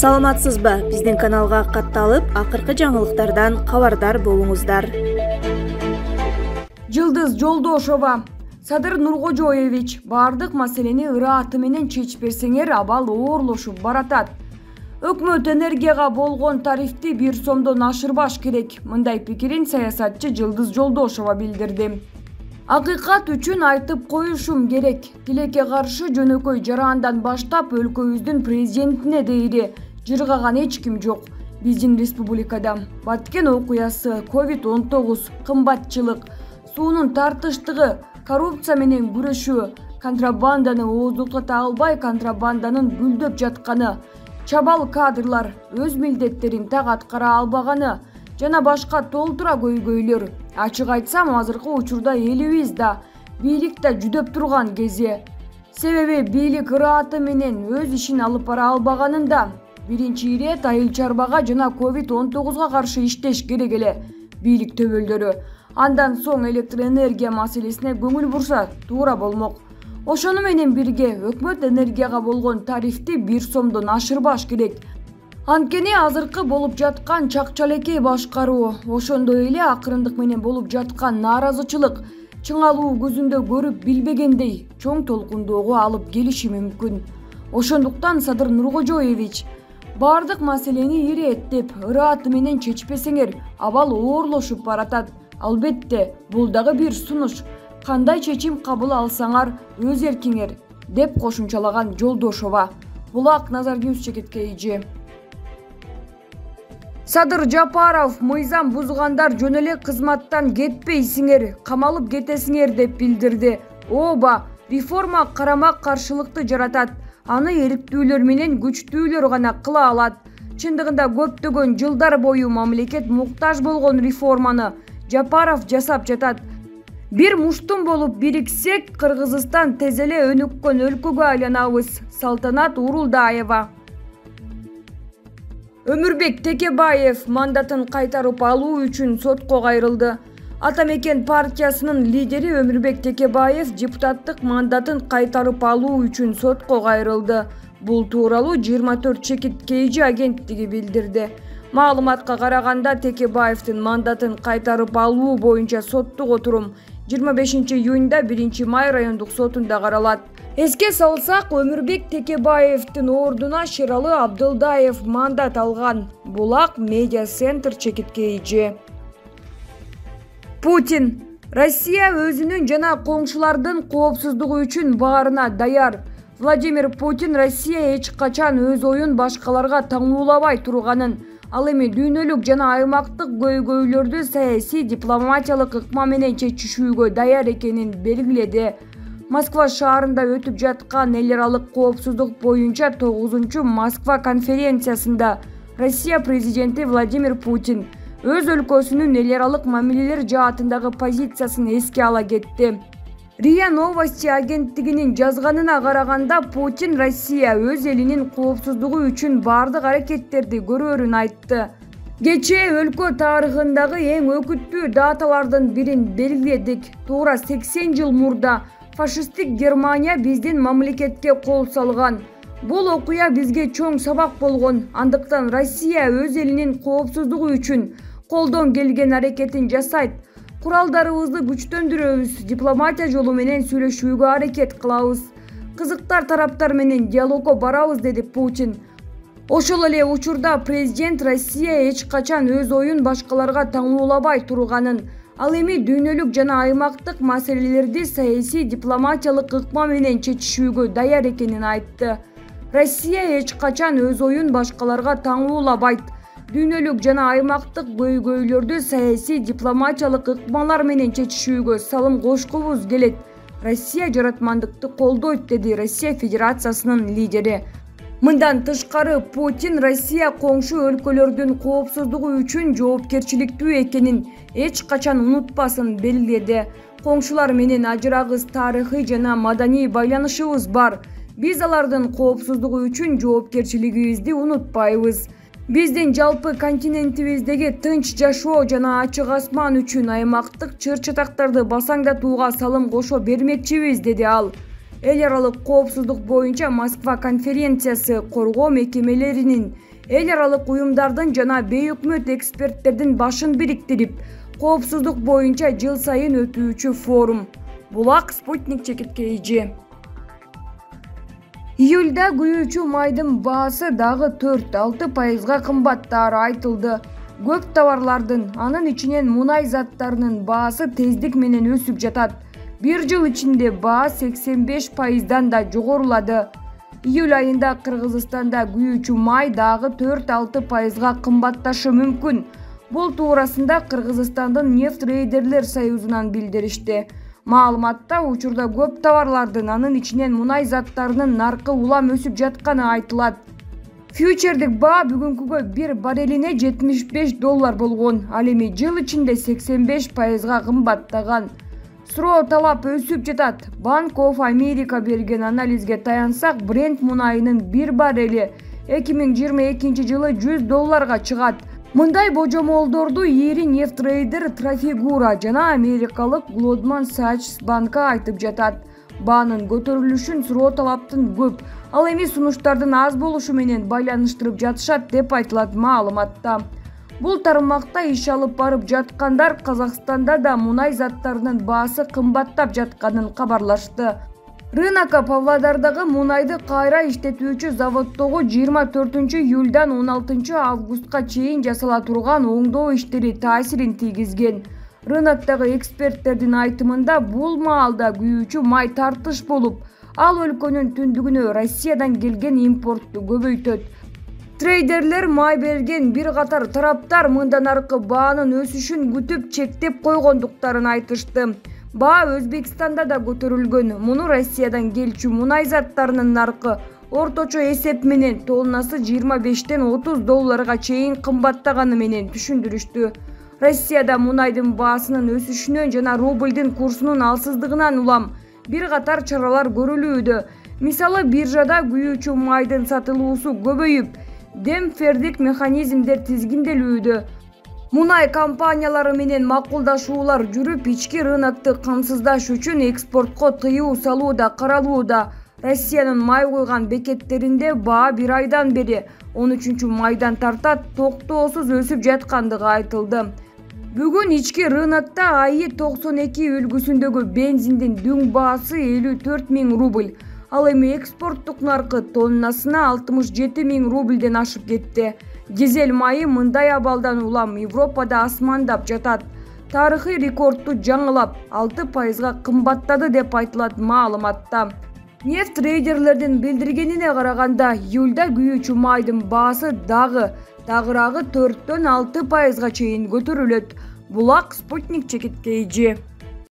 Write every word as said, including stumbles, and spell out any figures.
Саламатсызбы? Биздин каналга катталып, акыркы жаңылыктардан кабардар болуңуздар. Жылдыз Жолдошова. Садыр Нуркожоевич, бардык маселени ырааты менен чечип берсеңер, абал оорлошуп баратат. Өкмөт энергияга болгон тарифти бир сомдон ашырбаш керек. Мындай пикирин саясатчы Жылдыз Жолдошова билдирди. Акыйкат үчүн айтып коюшум керек. Тилекке каршы жөнөкөй жараандан баштап өлкөбүздүн президентине дейри жыргаган эч ким жок. Биздин республикада Баткен окуясы, ковид он тогуз, кымбатчылык, суунун тартыштыгы, коррупция менен күрөшүү, контрабанданы ооздуктата албай контрабанданын гүлдөп жатканы, чабал кадрлар өз милдеттерин так аткара албаганы жана башка толтура көйгөйлөр. Ачык айтсам, азыркы учурда элибиз да, бийлик да жүдөп турган кези. Себеби бийлик ырааты менен өз ишин алып бара албаганында биринчи ирет айыл чарбага жана ковид он тогузга каршы иштеш керек эле бийлик төбөлдөрү. Андан соң электр энергия маселесине көңүл бурса туура болмок. Ошону менен бирге өкмөт энергияга болгон тарифти бир сомдон ашырбаш керек. Анткени азыркы болуп жаткан чакчалекей башкаруу, ошондой эле акырындык менен болуп жаткан нааразычылык чыңалуу көзүндө көрүп билбегендей чоң толкундоого алып келиши мүмкүн. Ошондуктан Садыр Нуркожоевич, бардык маселени ирээттеп, ырааты менен чечпесеңер, абал оорлошуп баратат. Албетте, бул дагы бир сунуш. Кандай чечим кабыл алсаңар, өз эркиңер, деп кошумчалаган Жолдошова. Булак Назар Ньюс чекиткейжи. Садыр Жапаров, мыйзам бузгандар жөн эле кызматтан кетпейсиңер, камалып кетесиңер деп билдирди. Ооба, реформа карама каршылыкты жаратат. Аны эрктүүлөр менен күчтүүлөр гана кыла алат. Чындыгында көптөгөн жылдар бою мамлекет муктаж болгон реформаны Жапаров жасап жатат. Бир муштум болуп бириксек, Кыргызстан тез эле өнүккөн өлкөгө айланабыз. Салтанат Урулдаева. Өмүрбек Текебаев мандатын кайтарып алуу үчүн сотко кайрылды. Ата Мекен партиясынын лидери Өмүрбек Текебаев депутаттык мандатын кайтарып алуу үчүн сотко кайрылды. Бул тууралуу жыйырма төрт чекит кейжи агенттиги билдирди. Маалыматка караганда, Текебаевдин мандатын кайтарып алуу боюнча соттук отурум жыйырма бешинчи июнда биринчи май райондук сотунда каралат. Эске салсак, Өмүрбек Текебаевдин ордуна Шералы Абдылдаев мандат алган. Булак медиа центр чекиткейжи. Путин. Россия өзүнүн жана коңшулардын коопсуздугу үчүн баарына даяр. Владимир Путин Россия эч качан өз оюн башкаларга таңуулабай турганын, ал эми дүйнөлүк жана аймактык көйгөйлөрдү саясий дипломатиялык ыкма менен чечишүүгө даяр экенин белгиледи. Москва шаарында өтүп жаткан эл аралык коопсуздук боюнча тогузунчу Москва конференциясында Россия президенти Владимир Путин өз өлкөсүнүн эл аралык мамилелер жаатындагы позициясын эске ала кетти. РИА Новости агенттигинин жазганына караганда, Путин Россия өз элинин коопсуздугу үчүн бардык аракеттерди көрөөрүн айтты. Кечээ өлкө тарыхындагы эң өкүттүү даталардын бирин белгиледик. Туура сексен жыл мурда фашисттик Германия биздин мамлекетке кол салган. Бул окуя бизге чоң сабак болгон. Андыктан Россия өз элинин коопсуздугу үчүн колдон келген аракетин жасайт. Куралдарыбызды күчтөндүрөбүз, дипломатия жолу менен сүйлөшүүгө аракет кылабыз. Кызыктар тараптар менен диалогго барабыз, деди Путин. Ошол эле учурда президент Россия эч качан өз оюн башкаларга таңуулабай турганын, ал эми дүйнөлүк жана аймактык маселелерди саясий дипломатиялык ыкма менен чечишүүгө даяр экенин айтты. Россия эч качан өз оюн башкаларга таңуулабайт. Дүйнөлүк жана аймактык көйгөйлөрдү саясий дипломатиялык ыкмалар менен чечишүүгө салым кошкубуз келет. Россия жаратмандыкты колдойт, деди Россия Федерациясынын лидери. Мындан тышкары, Путин Россия коңшу өлкөлөрдүн коопсуздугу үчүн жоопкерчиликтүү экенин эч качан унутпасын белгиледи. Коңшулар менен ажырагыс тарыхый жана маданий байланышыбыз бар. Биз алардын коопсуздугу үчүн жоопкерчилигибизди унутпайбыз. Биздин жалпы континентибиздеги тынч жашоо жана ачык асман үчүн аймактык чыр-чатактарды басаңдатууга салым кошо бермекчибиз, деди ал. Эл аралык коопсуздук боюнча Москва конференциясы коргоо мекемелеринин эл аралык уюмдардын жана бейөкмөт эксперттердин башын бириктирип, коопсуздук боюнча жыл сайын өтүүчү форум. Булак Спутник чекиткейжи. Июлда күйүүчү майдын баасы дагы төрт-алты пайызга кымбаттаары айтылды. Көп товарлардын, анын ичинен мунай заттарынын баасы тездик менен өсүп жатат. Бир жыл ичинде баа сексен беш пайыздан да жогорулады. Июль айында Кыргызстанда күйүүчү май дагы төрт-алты пайызга кымбатташы мүмкүн. Бул туурасында Кыргызстандын нефтрейдерлер союзунан билдиришти. Маалыматта учурда көп товарлардын, анын ичинен мунай заттарынын наркы улам өсүп жатканы айтылат. Фьючердик баа бүгүнкүгө бир баррелине жетимиш беш доллар болгон, ал эми жыл ичинде сексен беш пайызга кымбаттаган. Суроо талап өсүп жатат. Bank of America берген анализге таянсак, Brent мунайынын бир баррели эки миң жыйырма экинчи жылы жүз долларга чыгат. Мындай божомолдорду ири нефтрейдер Trafigura жана америкалык Goldman Sachs банка айтып жатат. Баанын көтөрүлүшүн суроо талаптын көп, ал эми сунуштардын аз болушу менен байланыштырып жатышат деп айтылат маалыматта. Бул тармакта иш алып барып жаткандар Казакстанда да мунай заттарынын баасы кымбаттап жатканын кабарлашты. Рынокко Павлодардагы мунайды кайра иштетүүчү заводдогу жыйырма төртүнчү июлдан он алтынчы августка чейин жасала турган оңдоо иштери таасирин тийгизген. Рыноктогу эксперттердин айтымында бул маалда күйүүчү май тартыш болуп, ал өлкөнүн түндүгүнө Россиядан келген импортту көбөйтөт. Трейдерлер май берген бир катар тараптар мындан аркы баанын өсүшүн күтүп чектеп койгондуктарын айтышты. Баа Өзбекстанда да көтөрүлгөн. Муну Россиядан келчү мунай заттарынын наркы орточо эсеп менен тоннасы жыйырма бештен отуз долларга чейин кымбаттаганы менен түшүндүрүштү. Россияда мунайдын баасынын өсүшүнөн жана рублдин курсунун алсыздыгынан улам бир катар чаралар көрүлүүдө. Мисалы, биржада күйүүчү майдын сатылуусу көбөйүп, демпфердик механизмдер тизгинделүүдө. Мунай компаниялары менен макулдашуулар жүрүп, ички рынокту камсыздаш үчүн экспортко тыюу салуу да каралууда. Россиянын май куйган бекеттеринде баа бир айдан бери он үчүнчү майдан тарта токтоосуз өсүп жаткандыгы айтылды. Бүгүн ички рынокто АИ токсон эки үлгүсүндөгү бензиндин дүң баасы элүү төрт миң рубль. Ал эми экспорттук наркы тоннасына алтымыш жети миң рубльден ашып кетти. Дизель майы мындай абалдан улам Европада асмандап жатат. Тарыхый рекордту жаңылап, алты пайызга кымбаттады деп айтылат маалыматта. Нефт трейдерлердин билдиргенине караганда, июлда күйүүчү майдын баасы дагы тагыраагы төрттөн алты пайызга чейин көтөрүлөт. Булак Спутник чекиткейжи.